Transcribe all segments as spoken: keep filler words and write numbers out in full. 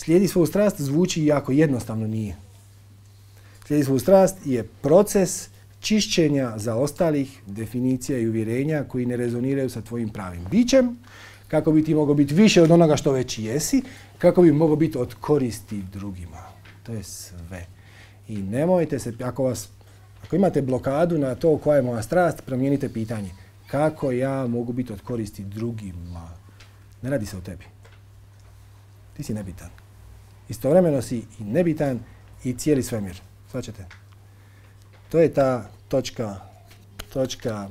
Slijedi svoju strast zvuči jako jednostavno, nije. Slijedi svoju strast je proces čišćenja zaostalih definicija i uvjerenja koji ne rezoniraju sa tvojim pravim bićem, kako bi ti mogao biti više od onoga što već jesi, kako bi mogao biti od koristi drugima. To je sve. I nemojte se, ako, vas, ako imate blokadu na to koja je moja strast, promijenite pitanje. Kako ja mogu biti od koristi drugima? Ne radi se o tebi. Ti si nebitan. Istovremeno si i nebitan i cijeli svemir. Svaćate? To je ta točka, točka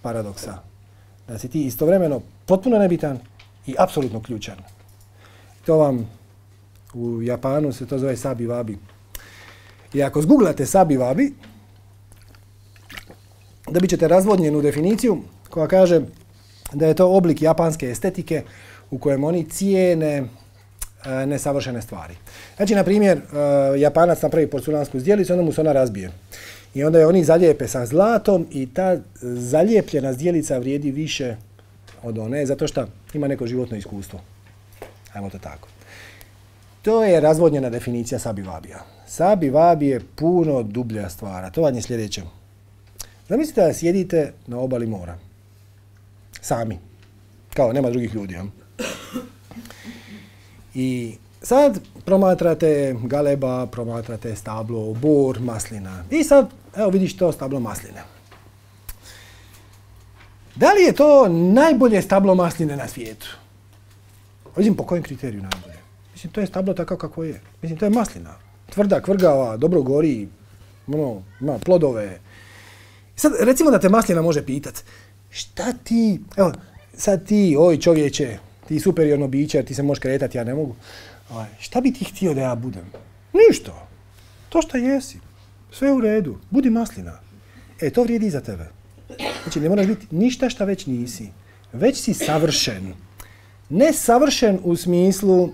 paradoksa. Da si ti istovremeno potpuno nebitan i apsolutno ključan. To vam u Japanu se to zove sabi wabi. I ako zguglate sabi wabi, dobit ćete razvodnjenu definiciju koja kaže da je to oblik japanske estetike u kojem oni cijene e, nesavršene stvari. Znači, na primjer, e, Japanac napravi porculansku zdjelicu, onda mu se ona razbije. I onda je oni zalijepe sa zlatom i ta zalijepljena zdjelica vrijedi više od one, zato što ima neko životno iskustvo. Ajmo to tako. To je razvodnjena definicija sabi wabija. Sabi wabi je puno dublja stvar, a to vam je sljedeće. Zamislite da sjedite na obali mora. Sami. Kao, nema drugih ljudi. Ja? I sad promatrate galeba, promatrate stablo, bor, maslina. I sad, evo vidiš to stablo masline. Da li je to najbolje stablo masline na svijetu? Mislim, po kojem kriteriju najbolje? Mislim, to je stablo tako kako je. Mislim, to je maslina. Tvrda, kvrgava, dobro gori, ono, ima plodove. Sad, recimo da te maslina može pitat, šta ti, evo, sad ti, oj čovječe, ti superiorno biće, ti se možeš kretati, ja ne mogu. Šta bi ti htio da ja budem? Ništa. To što jesi. Sve u redu. Budi maslina. E, to vrijedi i za tebe. Znači, ne moraš biti ništa šta već nisi. Već si savršen. Ne savršen u smislu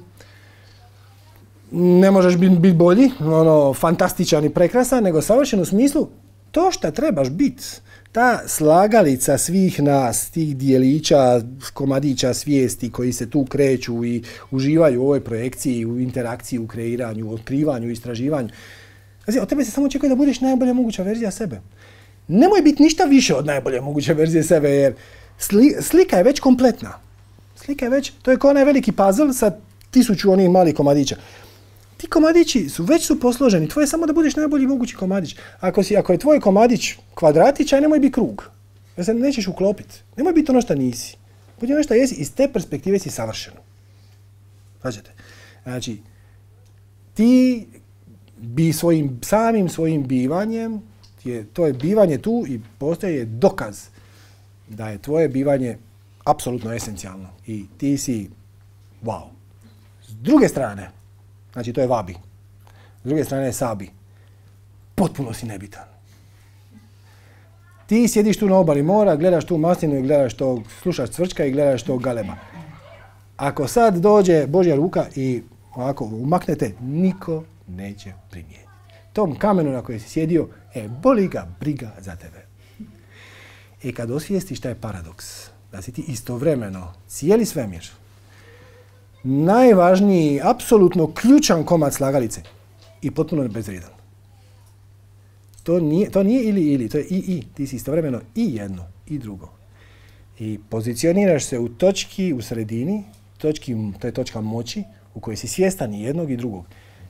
ne možeš biti bit bolji, ono, fantastičan i prekrasan, nego savršen u smislu to što trebaš biti. Ta slagalica svih nas, tih dijelića, komadića svijesti koji se tu kreću i uživaju u ovoj projekciji, u interakciji, u kreiranju, u otkrivanju, u istraživanju. Znači, od tebe se samo očekuje da budeš najbolja moguća verzija sebe. Nemoj biti ništa više od najbolje moguće verzije sebe, jer sli, slika je već kompletna. Slika je već, to je kao onaj veliki puzzle sa tisuću onih malih komadića. Ti komadići su već su posloženi, tvoje je samo da budeš najbolji mogući komadić. Ako, si, ako je tvoj komadić kvadratić, aj nemoj biti krug. Jer se nećeš uklopiti. Nemoj biti ono što nisi. Budi ono što jesi, iz te perspektive si savršen. Značite? Znači, ti bi svojim, samim svojim bivanjem, je, to je bivanje tu i postoje dokaz da je tvoje bivanje apsolutno esencijalno. I ti si wow. S druge strane, znači to je vabi. S druge strane je sabi. Potpuno si nebitan. Ti sjediš tu na obali mora, gledaš tu maslinu i gledaš to, slušaš cvrčka i gledaš to galeba. Ako sad dođe Božja ruka i ovako umaknete, niko neće primijeniti. Tom kamenu na kojem si sjedio, e, boli ga briga za tebe. I kad osvijestiš šta je paradoks, da si ti istovremeno cijeli svemir, najvažniji, apsolutno ključan komad slagalice i potpuno bezvrijedan. To nije, to nije ili ili, to je i i. Ti si istovremeno i jedno i drugo. I pozicioniraš se u točki u sredini, točki, to je točka moći u kojoj si svjestan i jednog i drugog.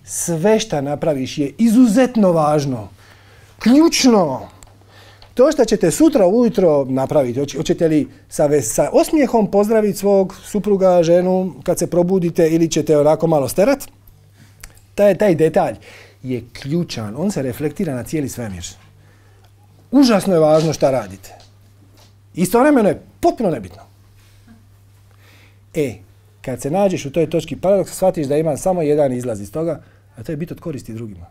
Sve što napraviš je izuzetno važno, ključno. To što ćete sutra ujutro napraviti, hoćete li sa, sa osmijehom pozdraviti svog supruga, ženu kad se probudite ili ćete onako malo sterat, taj, taj detalj je ključan, on se reflektira na cijeli svemir. Užasno je važno šta radite. Istovremeno je potpuno nebitno. E, kad se nađeš u toj točki paradoksa, shvatiš da ima samo jedan izlaz iz toga, a to je biti od koristi drugima.